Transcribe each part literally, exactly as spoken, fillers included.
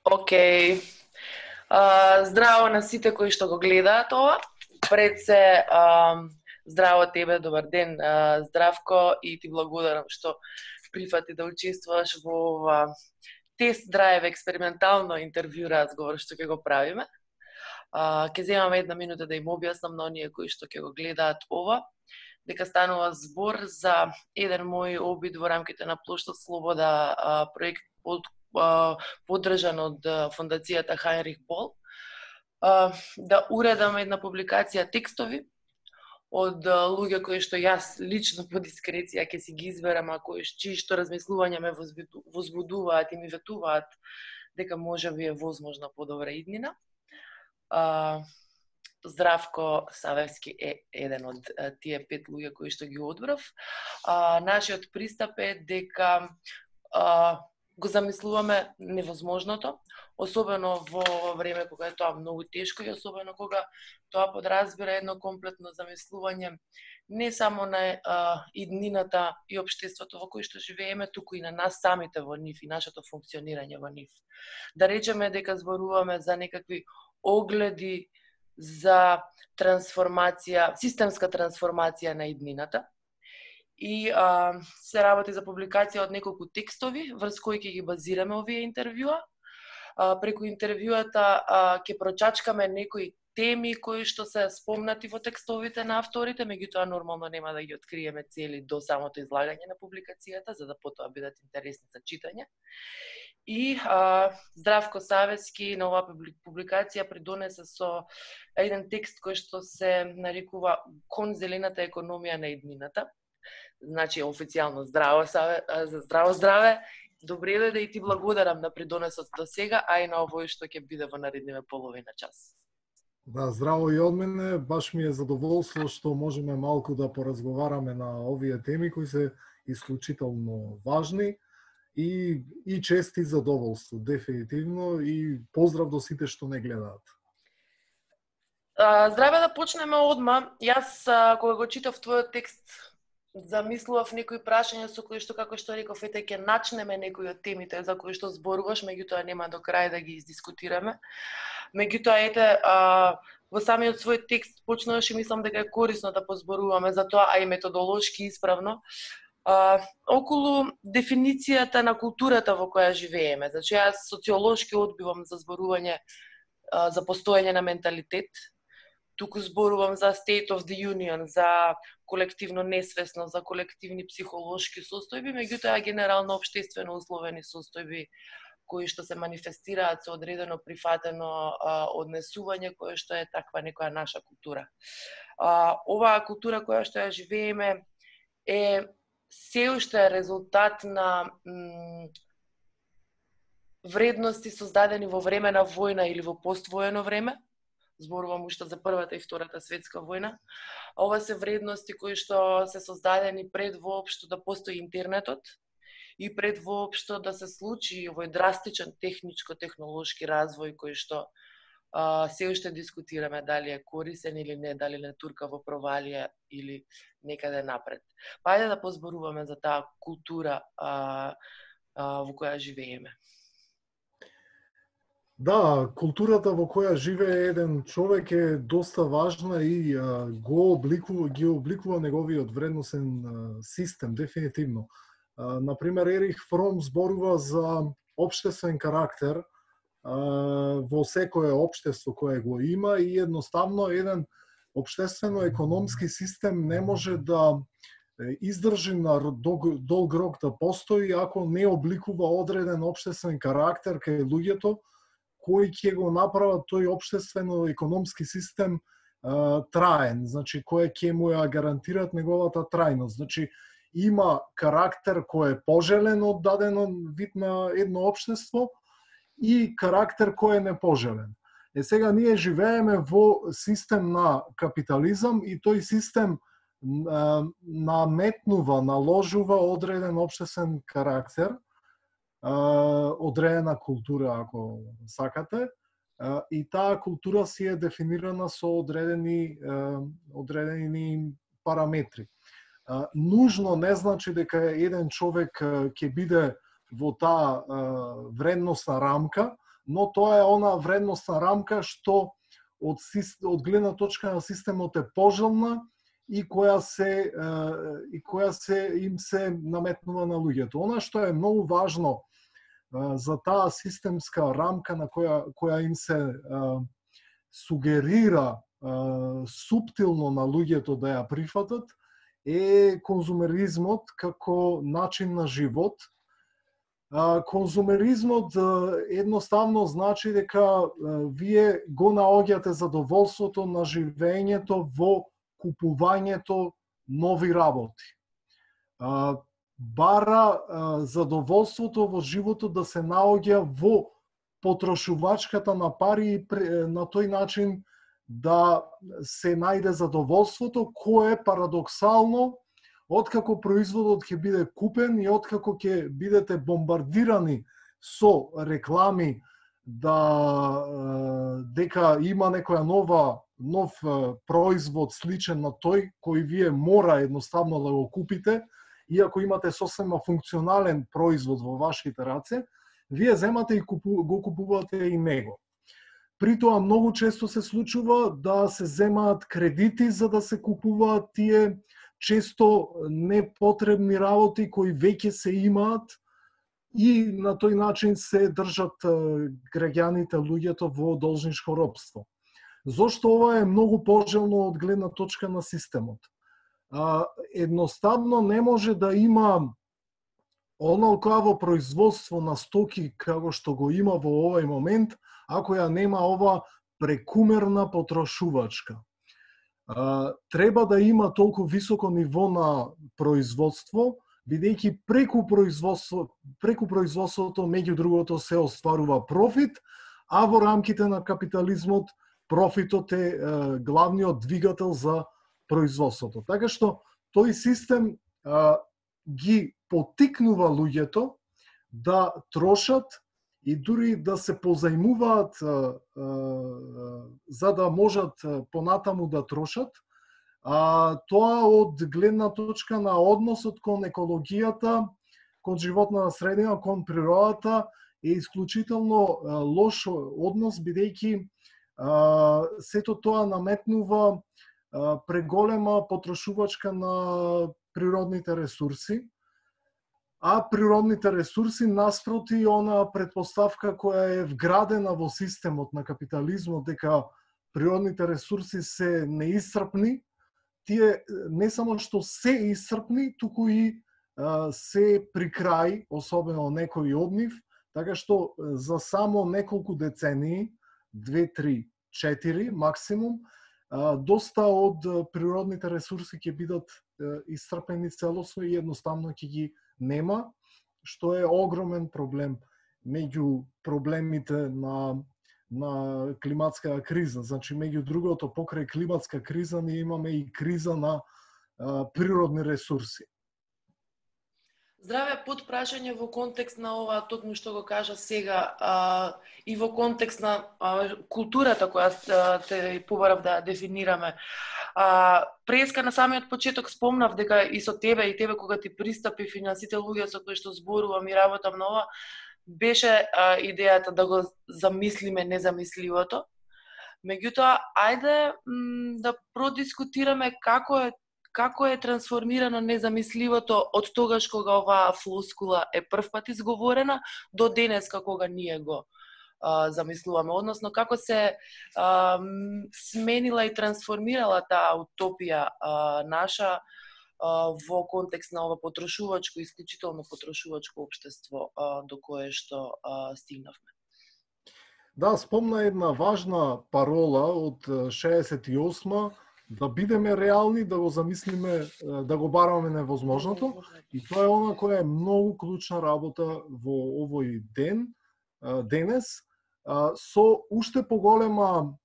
Океј. А, здраво на сите кои што го гледаат ова. Пред се, а, здраво тебе, добар ден, а, Здравко, и ти благодарам што прифати да учествуваш во ова тест драйв експериментално интервју разговор што ќе го правиме. А, ќе земаме една минута да им објаснам на оние кои што ќе го гледаат ова, дека станува збор за еден мој обид во рамките на Плошта Слобода, а, проект под поддржан од фондацијата Хайнрих Бол, да уредам една публикација текстови од луѓе кои што јас лично по дискреција ќе си ги изберам, а кои чии што размислувања ме возбудуваат и ми ветуваат дека може би е возможна подобра иднина. Здравко Савевски е еден од тие пет луѓе кои што ги одбрав. Нашиот пристап е дека го замислуваме невозможното, особено во време кога е тоа многу тешко и особено кога тоа подразбира едно комплетно замислување не само на а, иднината и општеството во кој што живееме, туку и на нас самите во нив и нашето функционирање во нив. Да речеме дека зборуваме за некакви огледи за трансформација, системска трансформација на иднината. И а, се работи за публикација од неколку текстови, врз кои ќе ги базираме овие интервјуа. А, преку интервјуата а, ќе прочачкаме некои теми кои што се спомнати во текстовите на авторите, меѓутоа нормално нема да ги откриеме цели до самото излагање на публикацијата, за да потоа бидат интересни за читање. И а, Здравко Савевски на оваа публикација придонесе со еден текст кој што се нарекува Кон зелената економија на иднината. Значи, официјално здраво, Саве, здраво здраве, добре дојде и ти благодарам на придонесот до сега, а и на овој што ќе биде во наредниве половина час. Да, здраво и од мене, баш ми е задоволство што можеме малку да поразговараме на овие теми кои се исклучително важни и, и чест и задоволство, дефинитивно, и поздрав до сите што не гледаат. Здраве, да почнеме одма. Јас, кога го читав твојот текст, замислував некои прашања со кои што, како што реков, ете ќе начнеме некои од темите за кои што зборуваш, меѓутоа нема до крај да ги издискутираме. Меѓутоа, ете, а, во самиот свој текст почнуваш и мислам дека е корисно да позборуваме за тоа, а и методолошки исправно, а, околу дефиницијата на културата во која живееме. Значи, јас социолошки одбивам за зборување а, за постоење на менталитет. Туку зборувам за state of the union, за колективно несвесно, за колективни психолошки состојби, меѓутоа генерално општествено условени состојби кои што се манифестираат со одредено прифатено а, однесување кое што е таква некоја наша култура. А, оваа култура која што ја живееме е се уште резултат на м, вредности создадени во време на војна или во поствоено време. Зборувам уште за Првата и Втората светска војна. Ова се вредности кои што се создадени пред воопшто да постои интернетот и пред воопшто да се случи овој драстичен техничко-технолошки развој кој што а, се уште дискутираме дали е корисен или не, дали не турка во провалија или некаде напред. Па ајде да позборуваме за таа култура а, а, во која живееме. Да, културата во која живее еден човек е доста важна и а, го обликува, ги обликува неговиот вредносен а, систем, дефинитивно. А, например, Ерих Фром зборува за општествен карактер а, во секое општество кое го има и едноставно еден општествено-економски систем не може да издржи на долг, долг рок да постои ако не обликува одреден општествен карактер кај луѓето, кои ќе го направат тој општествено-економски систем а, траен, значи кој ќе му ја гарантират неговата трајност. Значи има карактер кој е пожелен од даден вид на едно општество и карактер кој е непожелен. Е сега ние живееме во систем на капитализам и тој систем а, наметнува, наложува одреден општествен карактер, одредена култура, ако сакате, и таа култура си е дефинирана со одредени, одредени параметри. Нужно не значи дека еден човек ќе биде во таа вредносна рамка, но тоа е она вредностна рамка што од, од гледна точка на системот е пожелна и која се и која се им се наметнува на луѓето. Она што е многу важно за таа системска рамка на која која им се сугерира суптилно на луѓето да ја прифатат е конзумеризмот како начин на живот. Конзумеризмот едноставно значи дека вие го наоѓате задоволството на живењето во купувањето нови работи. Бара задоволството во животот да се наоѓа во потрошувачката на пари и на тој начин да се најде задоволството, кое парадоксално, откако производот ќе биде купен и откако ќе бидете бомбардирани со реклами да дека има некоја нова нов производ сличен на тој кој вие мора едноставно да го купите, иако имате сосема функционален производ во вашите раце, вие земате и купу, го купувате и него. При тоа многу често се случува да се земаат кредити за да се купуваат тие често непотребни работи кои веќе се имаат и на тој начин се држат граѓаните, луѓето во должничко робство. Зошто ова е многу пожелно од гледна точка на системот? Едноставно не може да има оналкаво производство на стоки како што го има во овој момент, ако ја нема ова прекумерна потрошувачка. Треба да има толку високо ниво на производство, бидејќи преку производство, преку производството меѓу другото се остварува профит, а во рамките на капитализмот профитот е главниот двигател за производството. Така што тој систем а, ги потикнува луѓето да трошат и дури да се позајмуваат а, а, за да можат понатаму да трошат. А, тоа од гледна точка на односот кон екологијата, кон животната средина, кон природата е исклучително а, лош однос, бидејќи а, сето тоа наметнува а, преголема потрошувачка на природните ресурси, а природните ресурси наспроти она предпоставка која е вградена во системот на капитализмот дека природните ресурси се неисцрпни, тие не само што се исцрпни, туку и а, се при крај, особено некои од нив, така што за само неколку децении, две, три, четири максимум, а, доста од природните ресурси ќе бидат а, исцрпени целосно и едноставно ќе ги нема, што е огромен проблем меѓу проблемите на на климатска криза. Значи, меѓу другото, покрај климатска криза, ние имаме и криза на а, природни ресурси. Здраве, подпрашање во контекст на ова, токму што го кажа сега, а, и во контекст на а, културата која а, те побарав да дефинираме. А, преска на самиот почеток спомнав дека и со тебе и тебе кога ти пристапи финансите луѓе со кои што зборувам и работам на ова, беше а, идејата да го замислиме незамисливото. Меѓутоа, ајде м, да продискутираме како е како е трансформирано незамисливото од тогаш кога оваа флоскула е првпат изговорена до денеска кога ние го а, замислуваме, односно како се а, сменила и трансформирала таа утопија а, наша во контекст на ова потрошувачко, исклучително потрошувачко општество до кое што стигнавме. Да, спомна една важна парола од шеесет и осма, да бидеме реални, да го замислиме, да го бараме невозможното, и тоа е она која е многу клучна работа во овој ден, денес, со уште поголема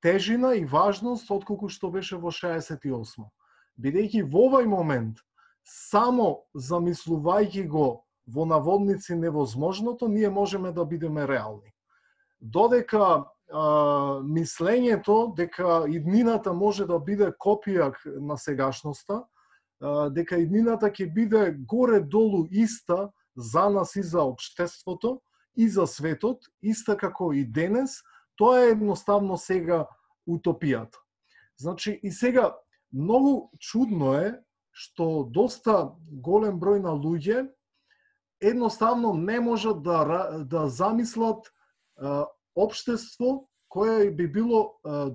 тежина и важност отколку што беше во шеесет и осма. Бидејќи во овој момент, само замислувајќи го во наводници невозможното, ние можеме да бидеме реални. Додека а, мислењето дека иднината може да биде копија на сегашноста, а, дека иднината ќе биде горе-долу иста за нас и за општеството, и за светот, иста како и денес, тоа е едноставно сега утопијата. Значи, и сега, многу чудно е што доста голем број на луѓе едноставно не можат да, да замислат а, општество кое би било а,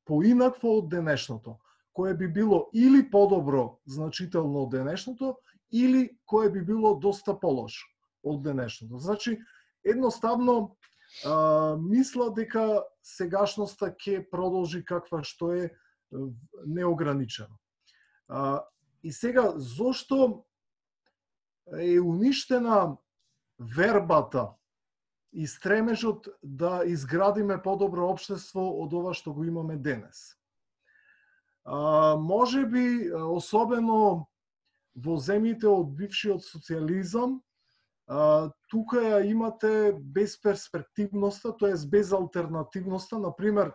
поинакво од денешното, кое би било или подобро значително од денешното, или кое би било доста полошо од денешното. Значи, едноставно а, мисла дека сегашноста ќе продолжи каква што е неограничено. А, и сега, зошто е уништена вербата и стремежот да изградиме подобро општество од ова што го имаме денес? А, може би, особено во земјите од бившиот социјализам, а, тука ја имате безперспективноста, тоест без алтернативноста. Например,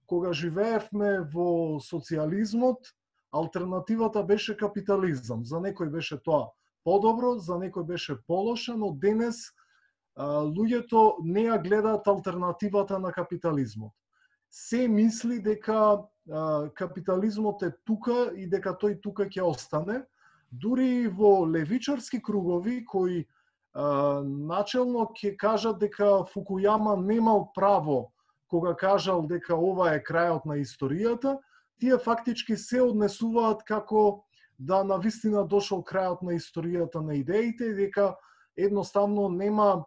кога живеевме во социјализмот, алтернативата беше капитализам. За некој беше тоа подобро, за некој беше полошо, но денес а, луѓето не ја гледаат алтернативата на капитализмот. Се мисли дека а, капитализмот е тука и дека тој тука ќе остане. Дури во левичарски кругови кои а, начелно ќе кажат дека Фукујама немал право кога кажал дека ова е крајот на историјата, тие фактички се однесуваат како да навистина дошол крајот на историјата на идеите и дека едноставно нема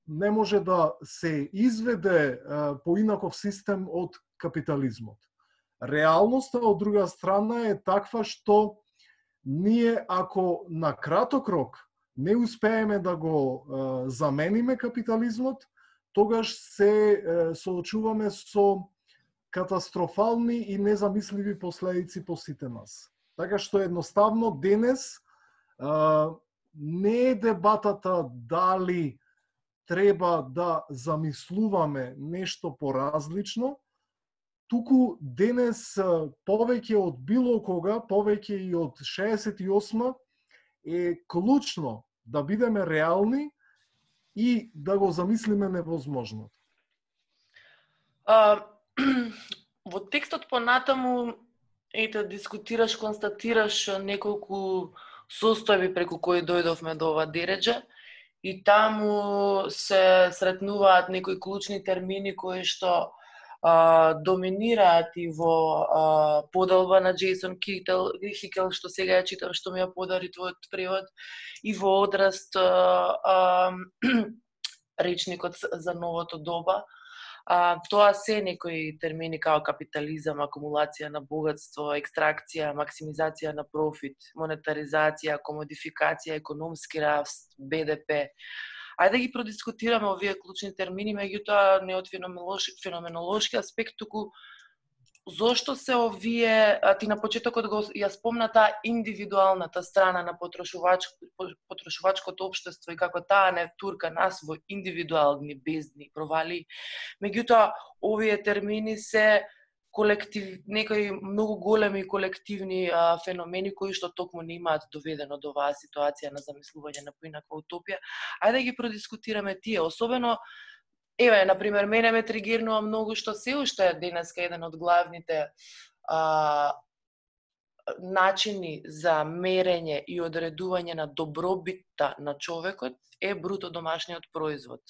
не може да се изведе а, поинаков систем од капитализмот. Реалноста од друга страна е таква што ние ако на краток рок не успееме да го а, замениме капитализмот, тогаш се а, соочуваме со катастрофални и незамисливи последици по сите нас. Така што едноставно денес а, не е дебатата дали треба да замислуваме нешто поразлично, туку денес повеќе од било кога, повеќе и од шеесет и осма, е клучно да бидеме реални и да го замислиме невозможното. А, во текстот понатаму ете дискутираш, констатираш неколку состојби преку кои дојдовме до ова дереджа и таму се сретнуваат некои клучни термини кои што а, доминираат и во а, поделба на Джейсон Хикел, Хикел што сега ја читам, што ми ја подари твојот превод, и во одраст а, а, речникот за новото доба. А, тоа се некои термини као капитализам, акумулација на богатство, екстракција, максимизација на профит, монетаризација, комодификација, економски раст, Б Д П. Ајде да ги продискутираме овие клучни термини, меѓутоа не од феноменолошки аспект, туку зошто се овие, а ти на почетокот го ја спомна таа индивидуалната страна на потрошувач, потрошувачкото општество и како таа не турка нас во индивидуални бездни провали. Меѓутоа, овие термини се колектив, некои многу големи колективни а, феномени кои што токму не имаат доведено до оваа ситуација на замислување на поинаква утопија. Ајде да ги продискутираме тие, особено еве, например, мене ме тригирнува многу што се уште денеска еден од главните а, начини за мерење и одредување на добробитта на човекот е бруто домашниот производ.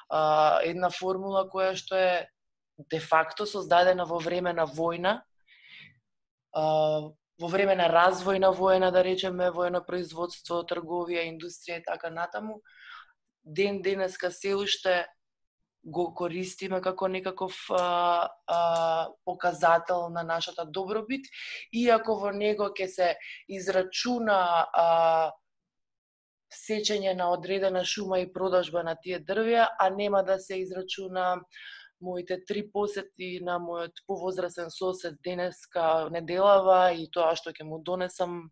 А, една формула која што е де факто создадена во време на војна, а, во време на развојна војна, да речеме, војно производство, трговија, индустрија и така натаму, ден денеска се уште го користиме како некаков а, а, показател на нашата добробит, иако во него ќе се израчуна а, сечење на одредена шума и продажба на тие дрвја, а нема да се израчуна моите три посети на мојот повозрасен сосед денеска неделава и тоа што ќе му донесам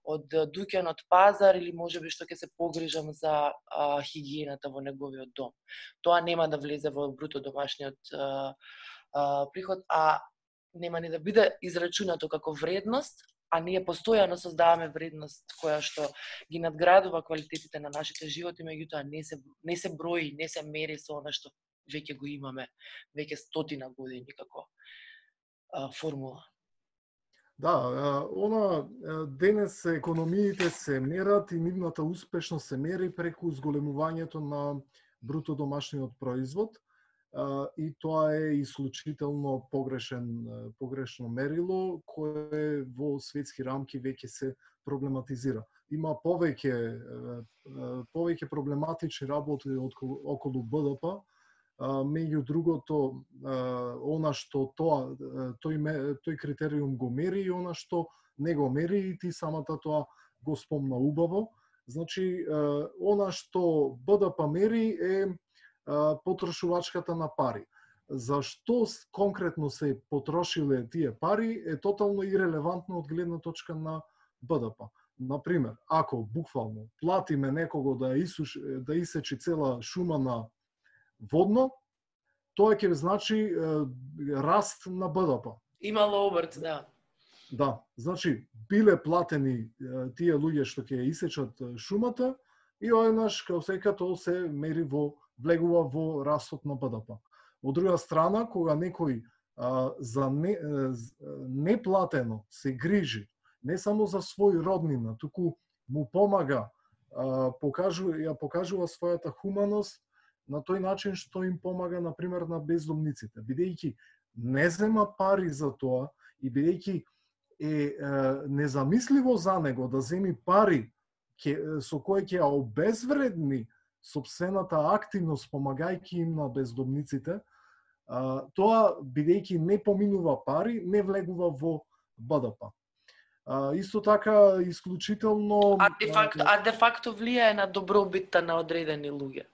од дуќан од пазар или можеби што ќе се погрижам за а, хигиената во неговиот дом. Тоа нема да влезе во бруто домашниот а, а, приход, а нема ни да биде израчунато како вредност, а ние постојано создаваме вредност која што ги надградува квалитетите на нашите животи, меѓутоа не се не се брои, не се мери со она што веќе го имаме веќе стотина години како а, формула. Да, она денес економиите се мерат и нивната успешност се мери преку зголемувањето на бруто домашниот производ, и тоа е исклучително погрешен погрешно мерило кое во светски рамки веќе се проблематизира. Има повеќе повеќе проблематични работи околу Б Д П, меѓу другото она што тоа тој тој критериум го мери и она што не го мери, и ти самата тоа го спомна убаво. Значи она што Б Д П мери е потрошувачката на пари. Зашто конкретно се потрошиле тие пари е тотално ирелевантно од гледна точка на Б Д П. Например, ако буквално платиме некого да исуш, да исечи цела шума на водно, тоа ќе значи е, раст на Б Д П. Имало обрт, да. Да, значи биле платени е, тие луѓе што ќе исечат шумата и одеднаш као сека тоа се мери во влегува во растот на Б Д П. Од друга страна, кога некој а, за не, неплатено се грижи не само за свој роднина, туку му помага, а, покажува, ја покажува својата хуманост на тој начин што им помага, например, на бездомниците, бидејќи не зема пари за тоа и бидејќи е, е незамисливо за него да земи пари ке, со кои ќе ја обезвредни сопствената активност помагајќи им на бездомниците, а, тоа бидејќи не поминува пари, не влегува во Б Д П. А, исто така исклучително А де факто, а де факто влијае на добробитта на одредени луѓе,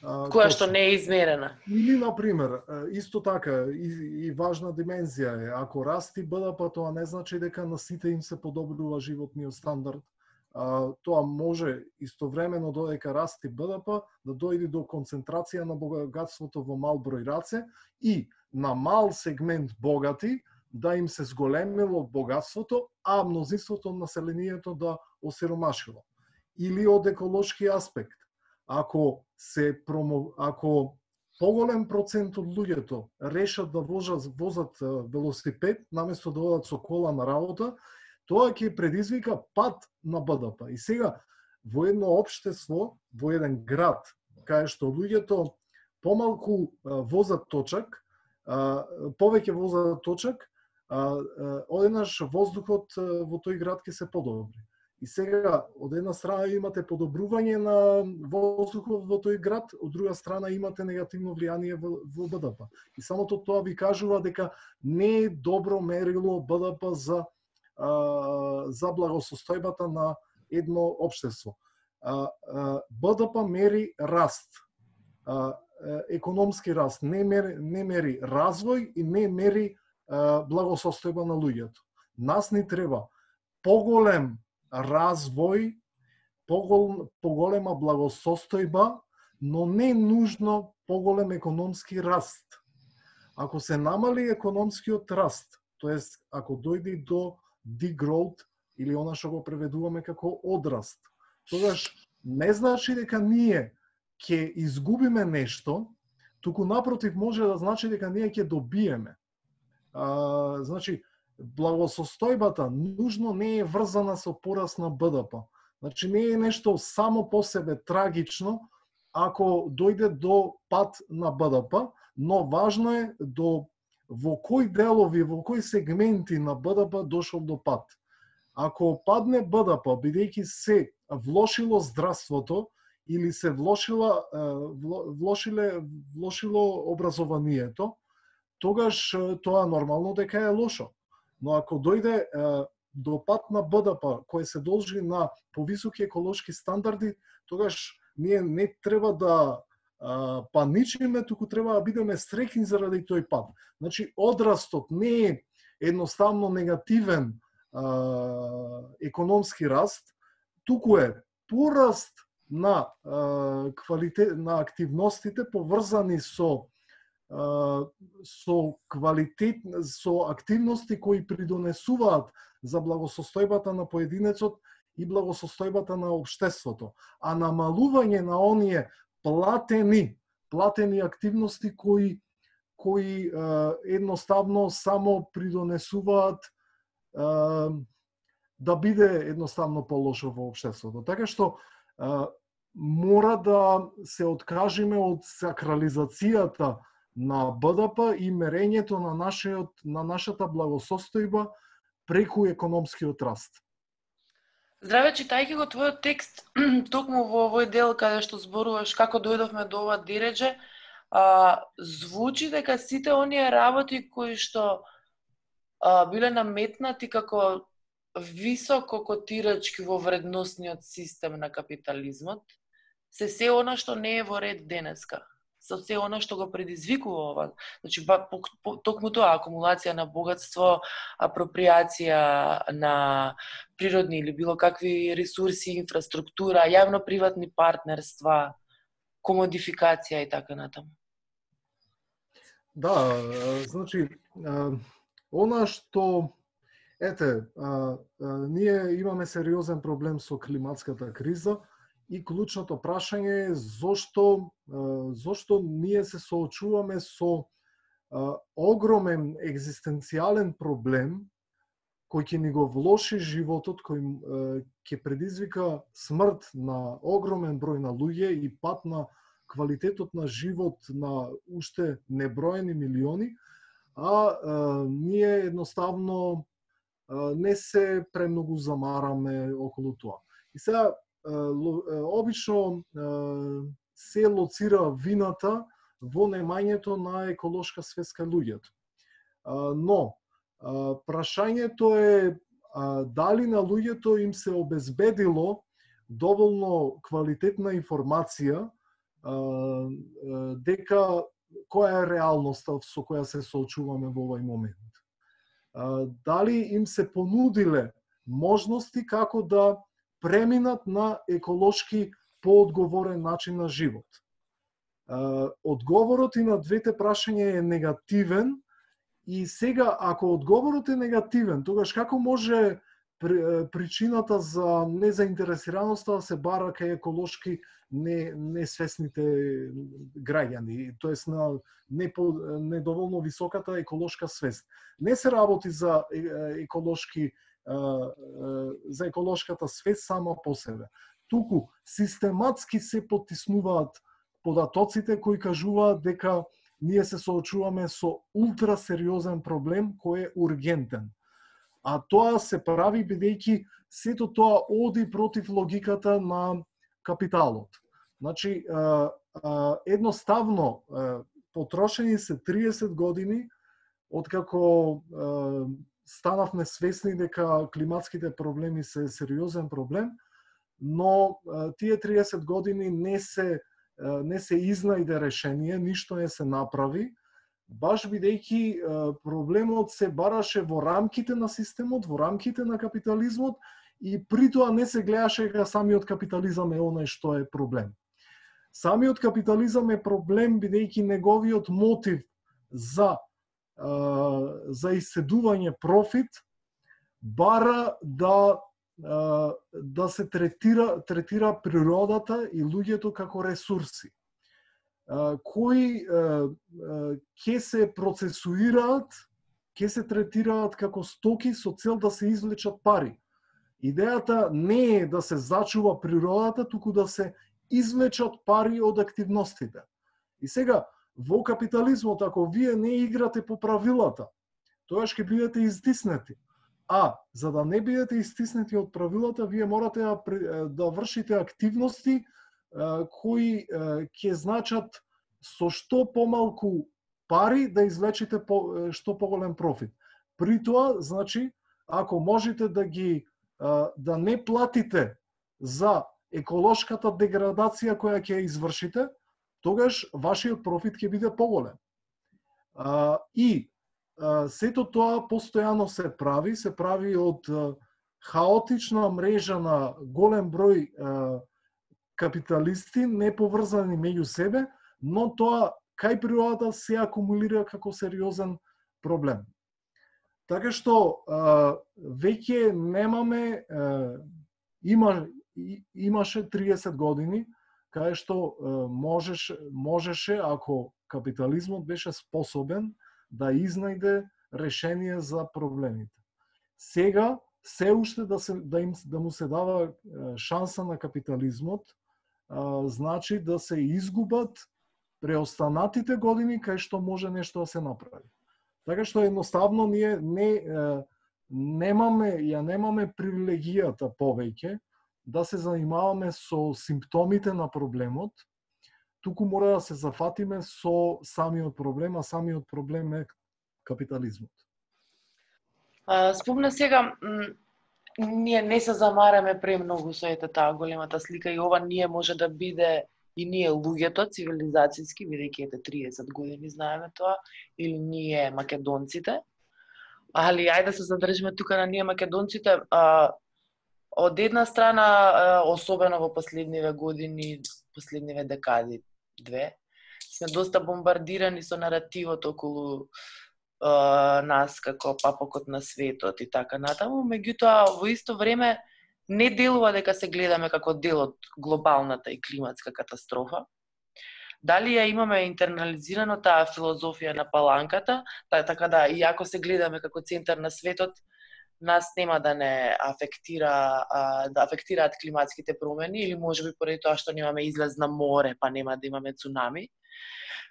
а, која точно. што не е измерена. Или, например, исто така, и, и важна димензија е, ако расти Б Д П, тоа не значи дека на сите им се подобрува животниот стандард. А, тоа може истовремено додека расти Б Д П да дојде до концентрација на богатството во мал број раце и на мал сегмент богати да им се зголемило богатството, а мнозинството на населението да осиромашило. Или од еколошки аспект, ако се промо... ако поголем процент од луѓето решат да возат, возат велосипед наместо да одат со кола на работа, тоа ќе предизвика пад на Б Д П. И сега, во едно општество, во еден град, кај што луѓето помалку возат точак, повеќе возат точак, одеднаш воздухот во тој град ќе се подобри. И сега, од една страна имате подобрување на воздухот во тој град, од друга страна имате негативно влијание во, во Б Д П. И самото тоа ви кажува дека не е добро мерило Б Д П за за благосостојбата на едно општество. Б Д П мери раст, економски раст, не мери, не мери развој и не мери благосостојба на луѓето. Нас ни треба поголем развој, погол, поголема благосостојба, но не нужно поголем економски раст. Ако се намали економскиот раст, тоест ако дојде до degrowth или она што го преведуваме како одраст, тогаш не значи дека ние ќе изгубиме нешто, туку напротив може да значи дека ние ќе добиеме. А, значи, благосостојбата нужно не е врзана со пораст на Б Д П. Значи, не е нешто само по себе трагично ако дојде до пад на Б Д П, но важно е до во кои делови, во кои сегменти на Б Д П дошол до пад. Ако падне Б Д П, бидејќи се влошило здравството или се влошила, влошиле, влошило образованието, тогаш тоа нормално дека е лошо. Но ако дојде е, до пад на Б Д П, кој се должи на повисоки еколошки стандарди, тогаш ние не треба да а, паничиме, туку треба да бидеме среќни заради тој пад. Значи, одрастот не е едноставно негативен а, економски раст, туку е пораст на а, квалитет на активностите поврзани со со квалитет, со активности кои придонесуваат за благосостојбата на поединецот и благосостојбата на општеството, а намалување на оние платени платени активности кои кои е, едноставно само придонесуваат е, да биде едноставно полошо во општеството. Така што е, мора да се откажеме од сакрализацијата на Б Д П и мерењето на нашиот на нашата благосостојба преку економскиот раст. Здраве, читајќи го твојот текст, токму во овој дел каде што зборуваш како дојдовме до ова диредже, а, звучи дека сите оние работи кои што а, биле наметнати како високо котирачки во вредносниот систем на капитализмот, се се она што не е во ред денеска. Со се она што го предизвикува ова. Значи, ба, по, по, токму тоа, акумулација на богатство, апроприација на природни или било какви ресурси, инфраструктура, јавно-приватни партнерства, комодификација и така натаму. Да, значи, она што, ете, ние имаме сериозен проблем со климатската криза, и клучното прашање е зошто, зошто ние се соочуваме со огромен екзистенцијален проблем кој ќе ни го влоши животот, кој ќе предизвика смрт на огромен број на луѓе и пат на квалитетот на живот на уште неброени милиони, а, а ние едноставно а, не се премногу замараме околу тоа. И сега обично се лоцира вината во немањето на еколошка свест кај луѓето. Но прашањето е дали на луѓето им се обезбедило доволно квалитетна информација дека која е реалноста со која се соочуваме во овој момент. Дали им се понудиле можности како да преминат на еколошки поодговорен начин на живот. Одговорот и на двете прашања е негативен и сега ако одговорот е негативен, тогаш како може причината за незаинтересираноста да се бара кај еколошки не несвесните граѓани, тоест на недоволно високата еколошка свест. Не се работи за еколошки за еколошката свест сама по себе. Туку систематски се потиснуваат податоците кои кажуваат дека ние се соочуваме со ултрасериозен проблем кој е ургентен. А тоа се прави бидејќи сето тоа оди против логиката на капиталот. Значи, едноставно потрошени се триесет години откако станавме свесни дека климатските проблеми се сериозен проблем, но тие триесет години не се не се изнајде решение, ништо не се направи, баш бидејќи проблемот се бараше во рамките на системот, во рамките на капитализмот и при тоа не се гледаше дека самиот капитализам е оној што е проблем. Самиот капитализам е проблем бидејќи неговиот мотив за за иседување профит бара да да се третира третира природата и луѓето како ресурси кои ќе се процесуираат, ќе се третираат како стоки со цел да се извлечат пари. Идејата не е да се зачува природата, туку да се извлечат пари од активностите. И сега во капитализмот, ако вие не играте по правилата, тогаш ќе бидете изтиснати. А, за да не бидете изтиснати од правилата, вие морате да, да вршите активности кои ќе значат со што помалку пари да извлечите по, што поголем профит. При тоа, значи, ако можете да ги да не платите за еколошката деградација која ќе извршите, тогаш вашиот профит ќе биде поголем. И сето тоа постојано се прави, се прави од хаотична мрежа на голем број капиталисти, не поврзани меѓу себе, но тоа кај природата се акумулира како сериозен проблем. Така што веќе немаме, има, имаше триесет години кај што можеше, можеше, ако капитализмот беше способен да изнајде решение за проблемите. Сега се уште да се да им да му се дава шанса на капитализмот, а, значи да се изгубат преостанатите години кај што може нешто да се направи. Така што едноставно ние не немаме ја немаме привилегијата повеќе да се занимаваме со симптомите на проблемот, туку мора да се зафатиме со самиот проблем, а самиот проблем е капитализмот. Спомна сега, ние не се замараме премногу со ете таа големата слика и ова ние може да биде и ние луѓето цивилизацијски, бидејќи ете триесет години знаеме тоа, или ние македонците. Али ајде да се задржиме тука на ние македонците. А, од една страна, а, особено во последниве години, последниве декади, две, сме доста бомбардирани со наративот околу Uh, нас како папокот на светот и така натаму, меѓутоа во исто време не делува дека се гледаме како дел од глобалната и климатска катастрофа. Дали ја имаме интернализирано таа филозофија на паланката, така да иако се гледаме како центар на светот, нас нема да не афектира да афектираат климатските промени или можеби поради тоа што немаме излез на море, па нема да имаме цунами.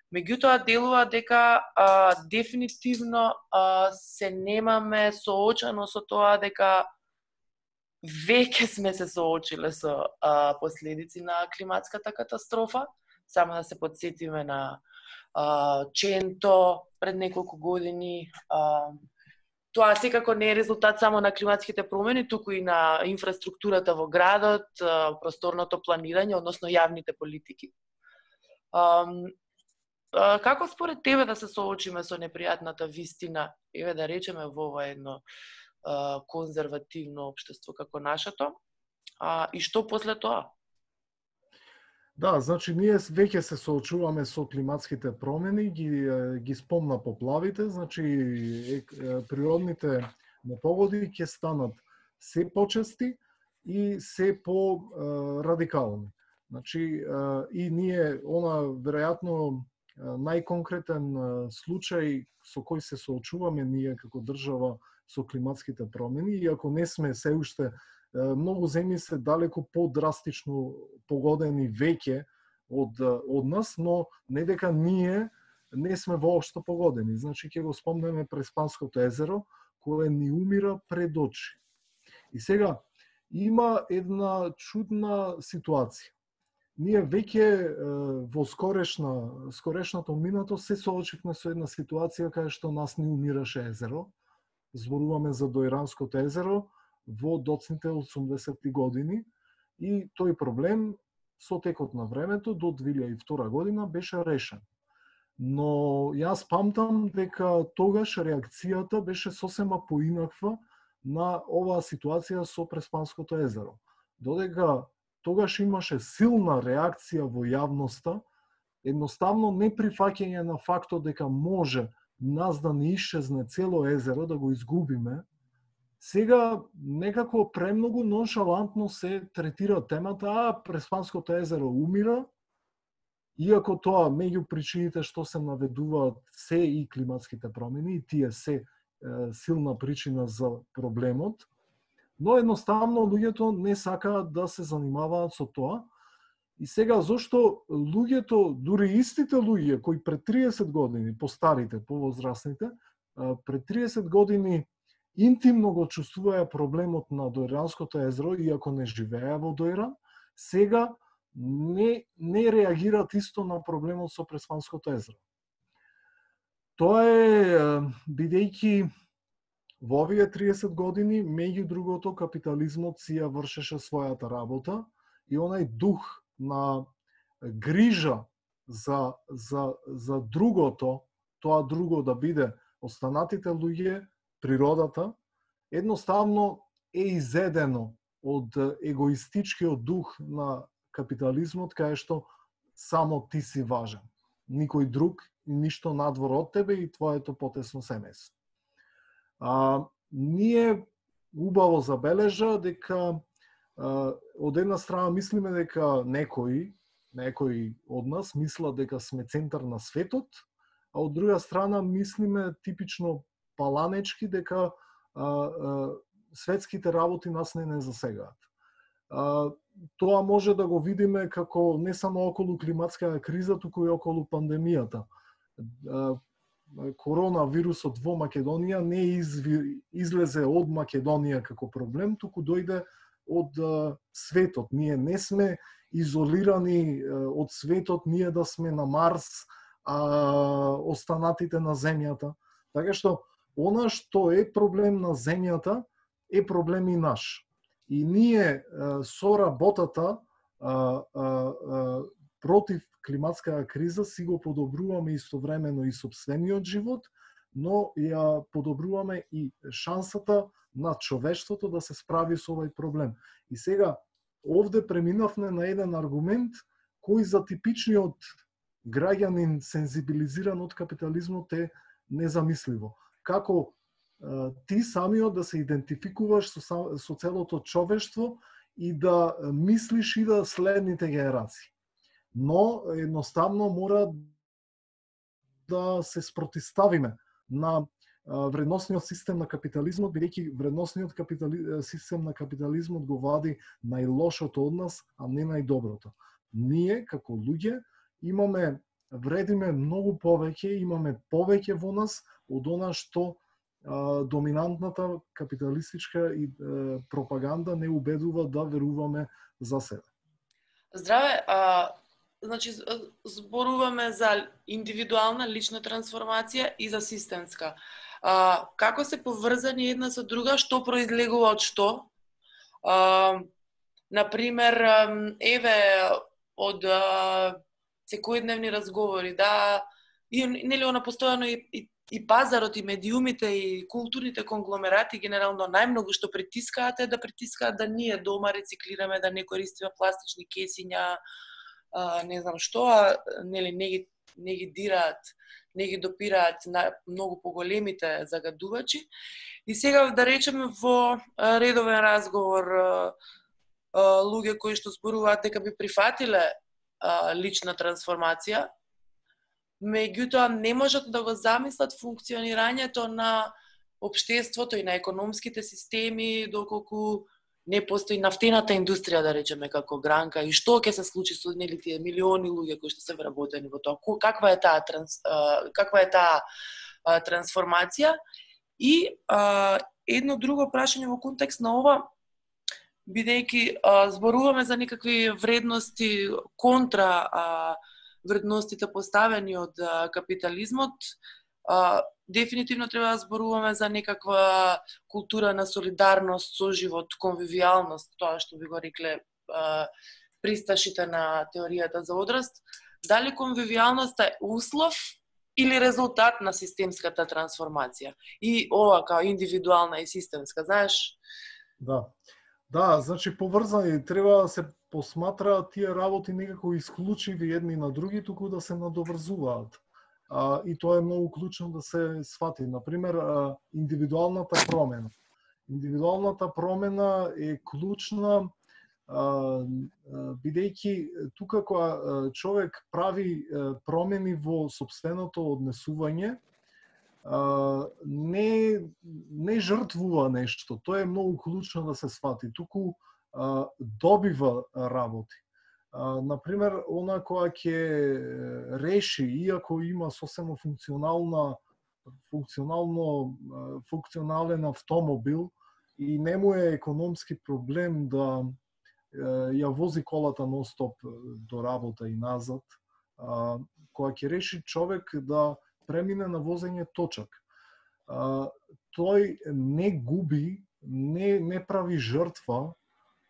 Меѓутоа делува дека а, дефинитивно а, се немаме соочено со тоа дека веќе сме се соочиле со а, последици на климатската катастрофа. Само да се подсетиме на а, Ченто пред неколку години. А, тоа секако не е резултат само на климатските промени, туку и на инфраструктурата во градот, а, просторното планирање, односно јавните политики. А, Како според тебе да се соочиме со непријатната вистина, еве да речеме во ова едно а, конзервативно општество како нашето, а, и што после тоа? Да, значи ние веќе се соочуваме со климатските промени, ги ги спомна поплавите, значи е, природните непогоди ќе станат се почести и се по а, радикални. Значи а, и ние она веројатно најконкретен случај со кој се соочуваме ние како држава со климатските промени, иако не сме се уште, многу земји се далеко подрастично погодени веќе од, од нас, но не дека ние не сме воопшто погодени. Значи ќе го спомнеме Преспанското езеро, кое ни умира пред очи. И сега има една чудна ситуација. Ние веќе во скорешна, скорешното минато се соочивме со една ситуација кај што нас не умираше езеро. Зборуваме за Дојранското езеро во доцните осумдесетти години и тој проблем со текот на времето до две илјади и втора година беше решен. Но јас памтам дека тогаш реакцијата беше сосема поинаква на оваа ситуација со Преспанското езеро. Додека тогаш имаше силна реакција во јавноста, едноставно неприфаќање на фактот дека може нас да не исчезне цело езеро, да го изгубиме. Сега некако премногу ноншалантно се третира темата, а Преспанското езеро умира, иако тоа меѓу причините што се наведуваат се и климатските промени, и тие се е, силна причина за проблемот. Но едноставно луѓето не сакаат да се занимаваат со тоа. И сега зошто луѓето, дури истите луѓе кои пред триесет години, постарите, повозрастните, пред триесет години интимно го чувствуваја проблемот на Дојранското езеро, иако не живееа во Дојран, сега не не реагираат исто на проблемот со Преспанското езеро. Тоа е бидејќи во овие триесет години, меѓу другото, капитализмот си ја вршеше својата работа и онај дух на грижа за, за, за другото, тоа друго да биде останатите луѓе, природата, едноставно е изедено од егоистичкиот дух на капитализмот, кај што само ти си важен. никој друг, ништо надвор од тебе и твоето потесно семејство. А, ние убаво забележа дека а, од една страна мислиме дека некои, некои од нас мислат дека сме центар на светот, а од друга страна мислиме типично паланечки дека а, а, светските работи нас не не засегаат. А, тоа може да го видиме како не само околу климатската криза, туку и околу пандемијата. А, коронавирусот во Македонија не изви, излезе од Македонија како проблем, туку дојде од а, светот. Ние не сме изолирани а, од светот, ние да сме на Марс, а останатите на земјата. Така што она што е проблем на земјата е проблем и наш. И ние а, со работата а, а, а, против климатската криза си го подобруваме истовремено и сопствениот живот, но ја подобруваме и шансата на човештвото да се справи со овој проблем. И сега овде преминавме на еден аргумент кој за типичниот граѓанин сензибилизиран од капитализмот е незамисливо. Како а, ти самиот да се идентификуваш со, со целото човештво и да мислиш и да следните генерации. Но едноставно мора да се спротиставиме на вредносниот систем на капитализмот, бидејќи вредносниот капитали... систем на капитализмот го вади најлошото од нас, а не најдоброто. Ние, како луѓе, имаме, вредиме многу повеќе, имаме повеќе во нас од она што а, доминантната капиталистичка и а, пропаганда не убедува да веруваме за себе. Здраве, а, значи зборуваме за индивидуална лична трансформација и за системска. А, како се поврзани една со друга, што произлегува од што? А, например, еве од а, секојдневни разговори, да, и нели она постојано и, и, и пазарот, и медиумите, и културните конгломерати генерално најмногу што притискаат е да притискаат да ние дома рециклираме, да не користиме пластични кесиња, а, не знам што, а нели не ги не ги дираат, не ги допираат на многу поголемите загадувачи. И сега да речеме во редовен разговор луѓе кои што зборуваат дека би прифатиле лична трансформација, меѓутоа не можат да го замислат функционирањето на општеството и на економските системи доколку не постои нафтената индустрија, да речеме, како гранка, и што ќе се случи со нели тие милиони луѓе кои што се вработени во тоа, каква е таа транс, каква е таа трансформација. И а, едно друго прашање во контекст на ова, бидејќи зборуваме за некакви вредности контра а, вредностите поставени од а, капитализмот, а, дефинитивно треба да зборуваме за некаква култура на солидарност, соживот, конвивијалност, тоа што би го рекле а, присташите на теоријата за одраст. Дали конвивијалноста е услов или резултат на системската трансформација? И ова као индивидуална и системска, знаеш? Да. Да, значи поврзани, треба да се посматраат тие работи некако исклучиви едни на други, туку да се надоврзуваат. А, и тоа е многу клучно да се свати. Например, а, индивидуалната промена. Индивидуалната промена е клучна, бидејќи тука кога човек прави промени во сопственото однесување, не не жртвува нешто. Тоа е многу клучно да се свати. Туку добива работи. Например, она која ќе реши, иако има сосема функционална функционално функционален автомобил и не му е економски проблем да ја вози колата нон-стоп до работа и назад, која ќе реши човек да премине на возење точак. Тој не губи, не, не прави жртва,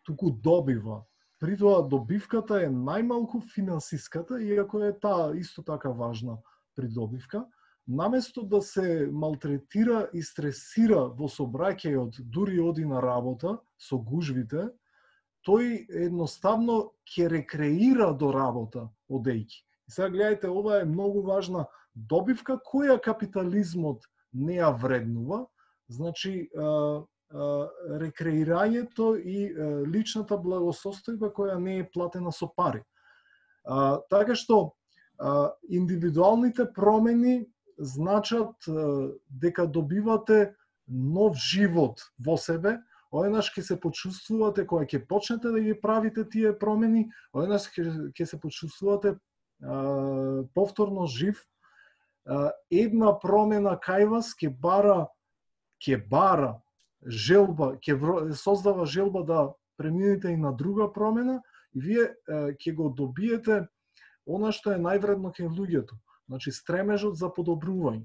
туку добива. При тоа добивката е најмалку финансиската, иако е таа исто така важна придобивка. Наместо да се малтретира и стресира во сообраќајот, дури оди на работа со гужвите, тој едноставно ќе рекреира до работа одејќи. И сега гледајте, ова е многу важна добивка која капитализмот не ја вреднува, значи а, а, рекреирањето и а, личната благосостојба која не е платена со пари. А, така што а, индивидуалните промени значат а, дека добивате нов живот во себе, одеднаш ќе се почувствувате кога ќе почнете да ги правите тие промени, одеднаш ќе се почувствувате а, повторно жив. А, една промена кај вас ќе бара ќе бара желба, ќе создава желба да преминете и на друга промена и вие ќе го добиете она што е највредно кај луѓето, значи стремежот за подобрување.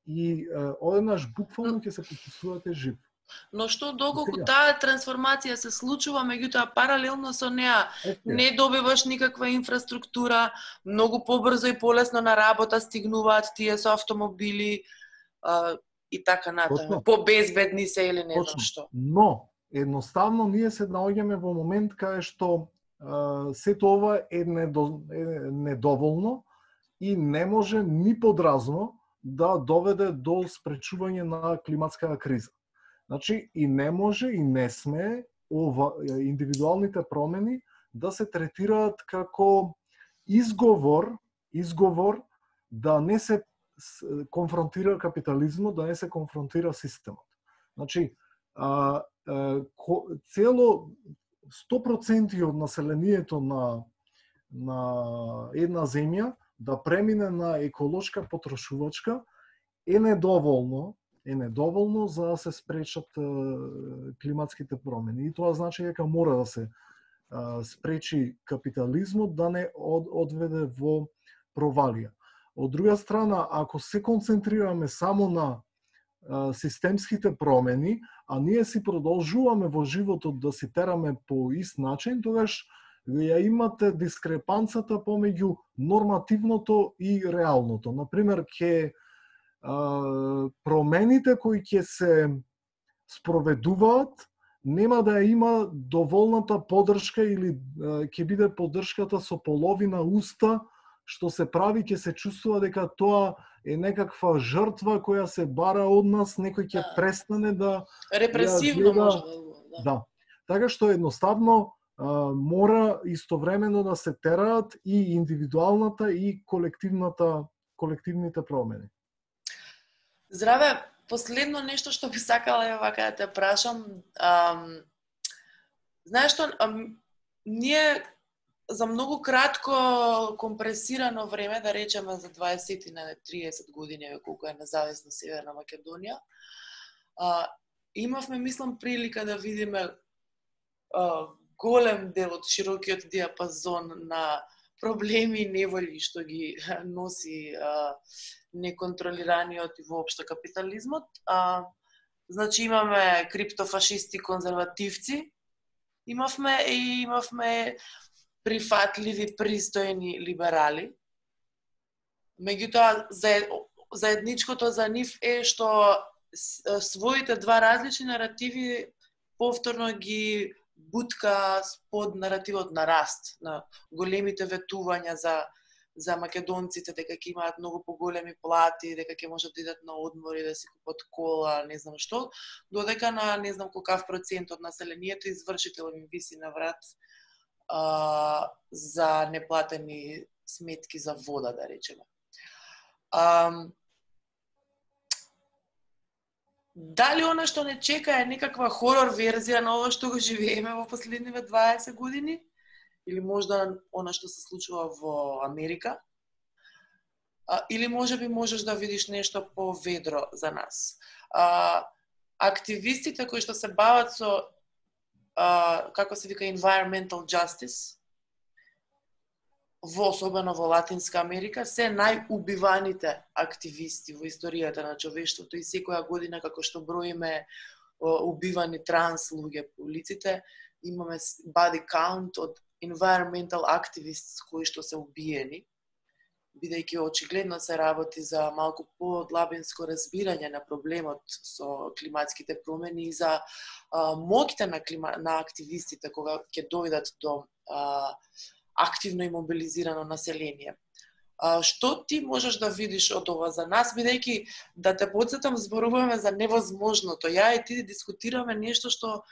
И одеднаш буквално ќе се почувствувате жив. Но што доколку таа трансформација се случува, меѓутоа паралелно со неа не добиваш никаква инфраструктура, многу побрзо и полесно на работа стигнуваат тие со автомобили а, и така натаму. Побезбедни се или не знам што. Но едноставно ние се наоѓаме во момент кај што а, сето ова е, недо, е недоволно и не може ни подразно да доведе до спречување на климатската криза. Значи, и не може и не сме ова, индивидуалните промени да се третираат како изговор, изговор да не се конфронтира капитализмот, да не се конфронтира системот. Значи, а, а, цело сто проценти од населението на, на една земја да премине на еколошка потрошувачка е недоволно, е недоволно за да се спречат е, климатските промени. И тоа значи дека мора да се е, спречи капитализмот да не од, одведе во провалија. Од друга страна, ако се концентрираме само на е, системските промени, а ние си продолжуваме во животот да си тераме по ист начин, тогаш ја имате дискрепанцата помеѓу нормативното и реалното. Например, ќе промените кои ќе се спроведуваат нема да има доволната поддршка или ќе биде поддршката со половина уста, што се прави, ќе се чувствува дека тоа е некаква жртва која се бара од нас, некој ќе престане да репресивно да може да. Да. Така што едноставно мора истовремено да се тераат и индивидуалната и колективната колективните промени. Здраве, последно нешто што би сакала ја вака да те прашам. Ам, знаеш што, ам, ние за многу кратко компресирано време, да речеме за дваесет на триесет години, колку е независна Северна Македонија, а, имавме, мислам, прилика да видиме а, голем дел од широкиот диапазон на проблеми и неволи што ги носи а, неконтролираниот и воопшто капитализмот. А, значи имаме криптофашисти, конзервативци, имавме и имавме прифатливи, пристојни либерали. Меѓутоа, заедничкото за нив е што своите два различни наративи повторно ги бутка под наративот на раст, на големите ветувања за за македонците, дека ќе имаат многу поголеми плати, дека ќе можат да идат на одмори, да си купат кола, не знам што, додека на не знам колкав процент од населението извршител им виси на врат а, за неплатени сметки за вода, да речеме. А, дали она што не чека е некаква хорор верзија на ова што го живееме во последниве дваесет години? Или можда она што се случува во Америка? А, или може би можеш да видиш нешто поведро за нас? А, активистите кои што се бават со, а, како се вика, environmental justice, во особено во Латинска Америка, се најубиваните активисти во историјата на човештвото и секоја година, како што броиме убивани транс луѓе по улиците, имаме body count од environmental activists кои што се убиени, бидејќи очигледно се работи за малку подлабинско разбирање на проблемот со климатските промени и за а, моќта на, клима, на активистите кога ќе дојдат до а, активно и мобилизирано население. А, што ти можеш да видиш од ова за нас, бидејќи да те подсетам, зборуваме за невозможното. Ја и ти дискутираме нешто што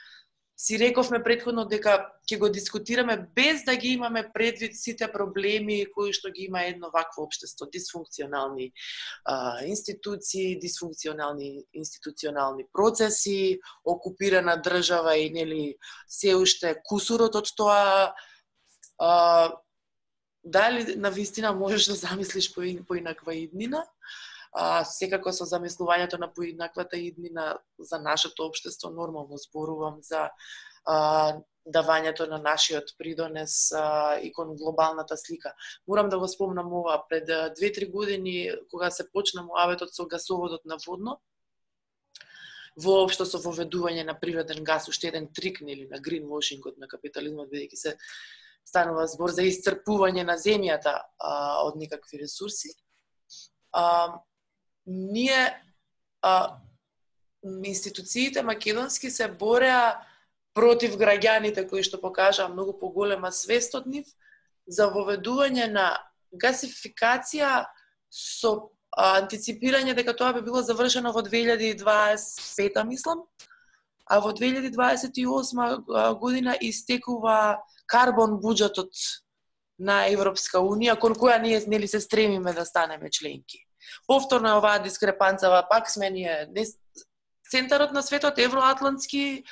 си рековме претходно дека ќе го дискутираме без да ги имаме предвид сите проблеми кои што ги има едно вакво општество, дисфункционални а, институции, дисфункционални институционални процеси, окупирана држава и нели се уште кусурот од тоа. А, дали навистина можеш да замислиш поинаква иднина? А, секако со замислувањето на поинаквата иднина за нашето општество, нормално зборувам за а, давањето на нашиот придонес а, и кон глобалната слика. Морам да го спомнам ова, пред две-три години, кога се почна муабетот со гасоводот на Водно, воопшто со воведување на природен газ, уште еден трик нели на гринвошингот на капитализмот, бидејќи се станува збор за исцрпување на земјата а, од никакви ресурси. А, ние а, институциите македонски се бореа против граѓаните кои што покажаа многу поголема свест од нив за воведување на гасификација со а, антиципирање дека тоа би било завршено во две илјади и дваесет и пета, мислам, а во две илјади дваесет и осма година истекува карбон буџетот на Европска унија, кон која ние нели се стремиме да станеме членки. Повторно е оваа дискрепанцава, пак сме ние центарот на светот, евроатлантски,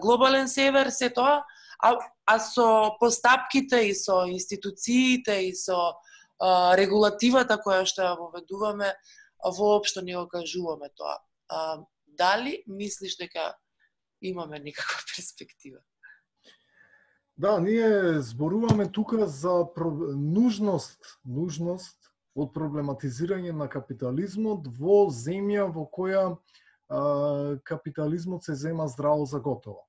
глобален север, се тоа, а, а со постапките и со институциите и со а, регулативата која што ја воведуваме, воопшто не го кажуваме тоа. А, дали мислиш дека имаме никаква перспектива? Да, ние зборуваме тука за нужност, нужност од проблематизирање на капитализмот во земја во која а, капитализмот се зема здраво за готово.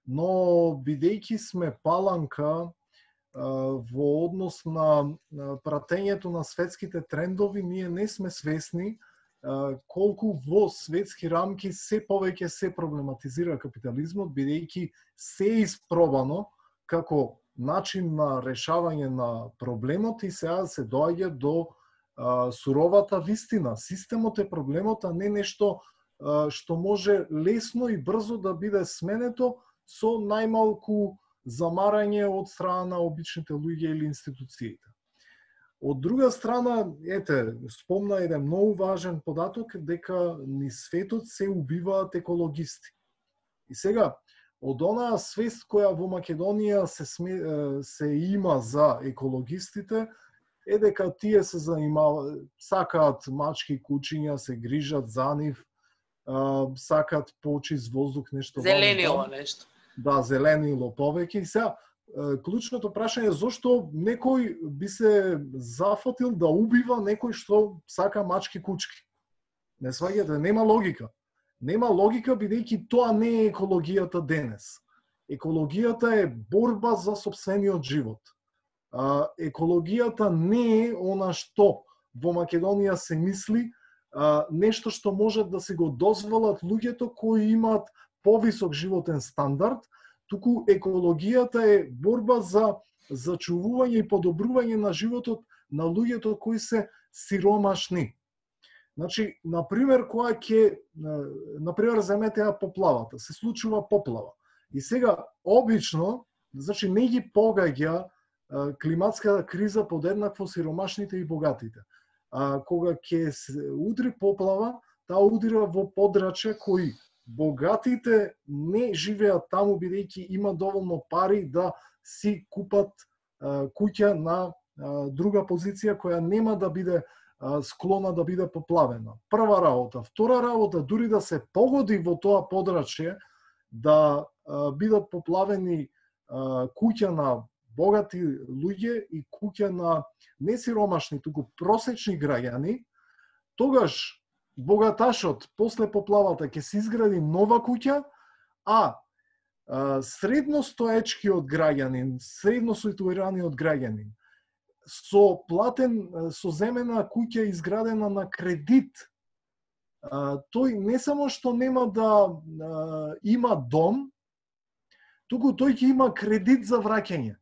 Но бидејќи сме паланка а, во однос на пратењето на светските трендови, ние не сме свесни а, колку во светски рамки се повеќе се проблематизира капитализмот, бидејќи се испробано како начин на решавање на проблемот и сега се доаѓа до а, суровата вистина. Системот е проблемот, а не нешто а, што може лесно и брзо да биде сменето со најмалку замарање од страна на обичните луѓе или институциите. Од друга страна, ете, спомна еден многу важен податок дека ни светот се убиваат екологисти. И сега, од онаа свест која во Македонија се, сме, се има за екологистите, е дека тие се занимаваат, сакаат мачки, кучиња, се грижат за нив, сакаат почист воздух, нешто зеленило нешто. Да, зеленило повеќе. И сега, клучното прашање е зошто некој би се зафатил да убива некој што сака мачки, кучки. Не сваѓате, нема логика. Нема логика, бидејќи тоа не е екологијата денес. Екологијата е борба за сопствениот живот. А, екологијата не е она што во Македонија се мисли, а, нешто што можат да се го дозволат луѓето кои имаат повисок животен стандард, туку екологијата е борба за зачувување и подобрување на животот на луѓето кои се сиромашни. Значи, например, која ќе, например, земете ја поплавата, се случува поплава. И сега, обично, значи, не ги погаѓа климатската криза подеднакво сиромашните и богатите. А кога ќе се удри поплава, таа удира во подрачја кои богатите не живеат таму, бидејќи има доволно пари да си купат куќа на друга позиција која нема да биде склона да биде поплавена. Прва работа. Втора работа, дури да се погоди во тоа подрачје да а, бидат поплавени а, куќа на богати луѓе и куќа на несиромашни, туку просечни граѓани, тогаш богаташот после поплавата ќе се изгради нова куќа, а, а средностоечкиот граѓанин, средно ситуираниот граѓанин, со платен, со земена куќа изградена на кредит, а, тој не само што нема да а, има дом, туку тој ќе има кредит за враќање.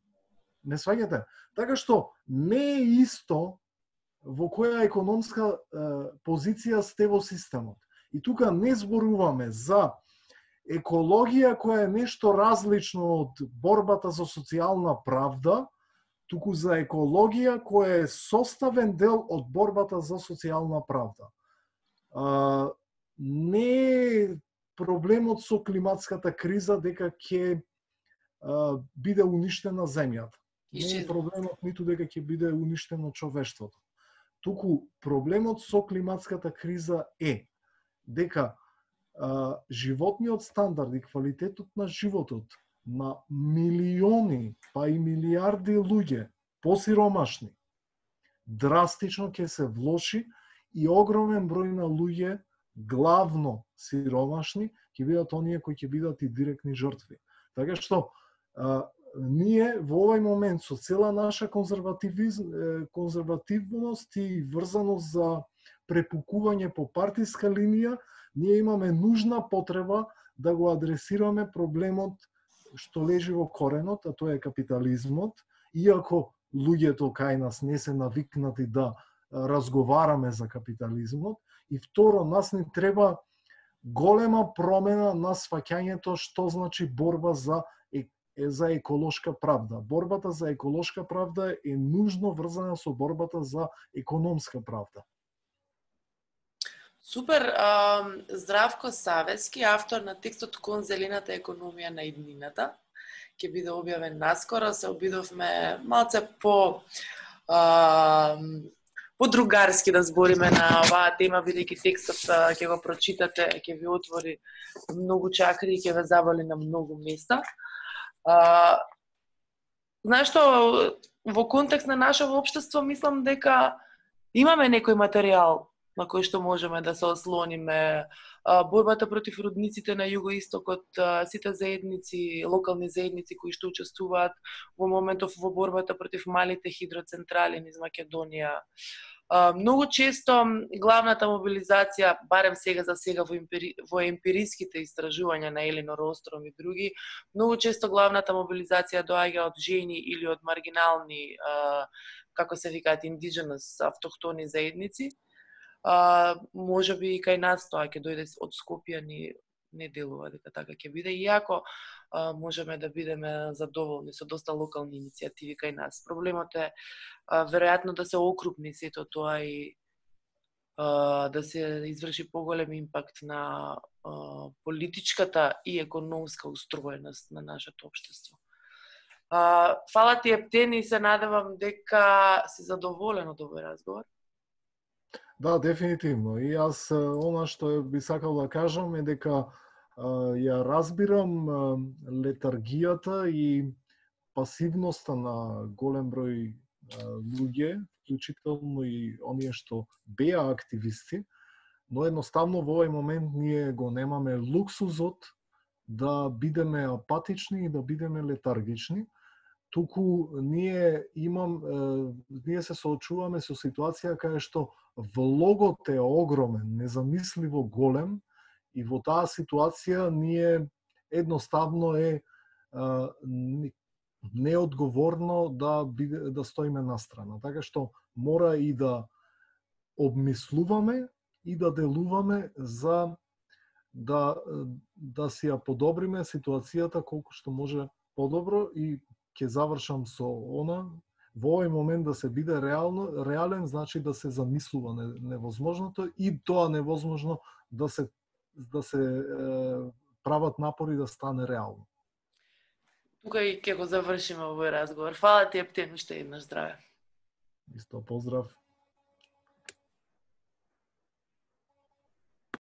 Не сваѓате? Така што не е исто во која економска позиција сте во системот. И тука не зборуваме за екологија која е нешто различно од борбата за социјална правда, туку за екологија која е составен дел од борбата за социјална правда. А, не е проблемот со климатската криза дека ќе биде уништена земјата. Не е проблемот ниту дека ќе биде уништено човештвото. Туку проблемот со климатската криза е дека а, животниот стандард и квалитетот на животот на милиони, па и милиарди луѓе посиромашни драстично ќе се влоши и огромен број на луѓе, главно сиромашни, ќе бидат оние кои ќе бидат и директни жртви. Така што а, ние во овој момент со цела наша конзервативност и врзаност за препукување по партиска линија, ние имаме нужна потреба да го адресираме проблемот што лежи во коренот, а тоа е капитализмот, иако луѓето кај нас не се навикнати да разговараме за капитализмот. И второ, нас не треба голема промена на сваќањето што значи борба за за еколошка правда. Борбата за еколошка правда е нужно врзана со борбата за економска правда. Супер. Здравко Савески, автор на текстот Кон зелената економија на иднината, ќе биде објавен наскоро. Се обидовме малце по по-другарски да збориме на оваа тема, бидејќи текстот ќе го прочитате, ќе ви отвори многу чакри и ќе ве заболи на многу места. Uh, знаеш што, во контекст на нашето општество, мислам дека имаме некој материјал на кој што можеме да се ослониме. Uh, борбата против рудниците на југоистокот, uh, сите заедници, локални заедници кои што учествуваат во моментов во борбата против малите хидроцентрали низ Македонија. Uh, многу често главната мобилизација, барем сега за сега во, емпири, во емпириските истражувања на Елинор Остром и други, многу често главната мобилизација доаѓа од жени или од маргинални, uh, како се викаат, индидженес, автохтони заедници. Uh, може би и кај нас тоа ќе дојде од Скопје, ни не делува дека така ќе биде, иако а, можеме да бидеме задоволни со доста локални иницијативи кај нас. Проблемот е а, веројатно да се окрупни сето тоа и а, да се изврши поголем импакт на а, политичката и економска устроеност на нашето општество. А, фала ти, Ептен, и се надевам дека си задоволен од овој разговор. Да, дефинитивно. И јас она што би сакал да кажам е дека а, ја разбирам а, летаргијата и пасивноста на голем број а, луѓе, вклучително и оние што беа активисти, но едноставно во овој момент ние го немаме луксузот да бидеме апатични и да бидеме летаргични. Туку ние имам, е, ние се соочуваме со ситуација кај што влогот е огромен, незамисливо голем, и во таа ситуација ние едноставно е, е неодговорно да биде, да стоиме настрана. Така што мора и да обмислуваме и да делуваме за да да си ја подобриме ситуацијата колку што може подобро. И ќе завршам со она, во овој момент да се биде реално, реален, значи да се замислува невозможното и тоа невозможно да се да се е, прават напори да стане реално. Тука и ќе го завршиме овој разговор. Фала ти, Ептен, уште еднаш здраве. Исто, поздрав.